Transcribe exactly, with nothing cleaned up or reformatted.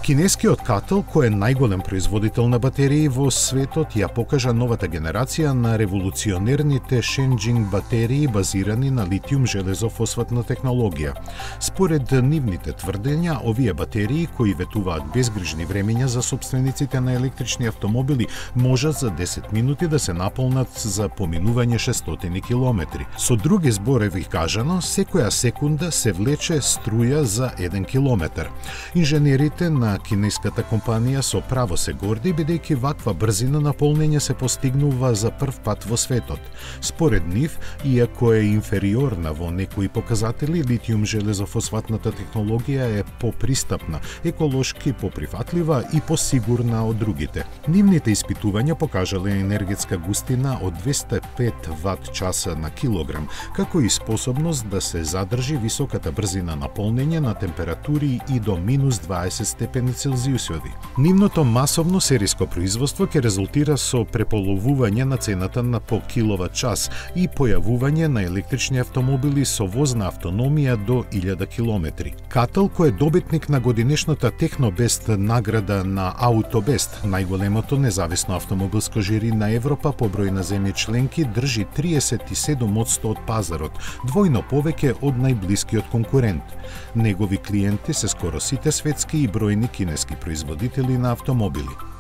Кинескиот Катл, кој е најголем производител на батерии во светот, ја покажа новата генерација на револуционерните Шенџинг батерии базирани на литиум-железофосфатна технологија. Според нивните тврдења, овие батерии кои ветуваат безгрижни времења за собствениците на електрични автомобили можат за десет минути да се наполнат за поминување шестстотини километри. Со други зборови кажано, секоја секунда се влече струја за еден километар. Инженерите на кинеската компанија со право се горди, бидејќи ваква брзина на полнење се постигнува за прв пат во светот. Според нив, иако е инфериорна во некои показатели, литиум-железофосфатната технологија е попристапна, еколошки поприфатлива и посигурна од другите. Нивните испитувања покажале енергетска густина од двесте и пет ват часа на килограм, како и способност да се задржи високата брзина на полнење на температури и до минус дваесет степени Целзиусови. Нивното масовно сериско производство ќе резултира со преполовување на цената на по киловат час и појавување на електрични автомобили со возна автономија до илјада километри. Катл, кој е добитник на годинешната Технобест награда на Аутобест, најголемото независно автомобилско жири на Европа по број на земји членки, држи триесет и седум одсто од пазарот, двојно повеќе од најблискиот конкурент. Негови клиенти се скоро сите светски и бројни кинески производители на автомобили.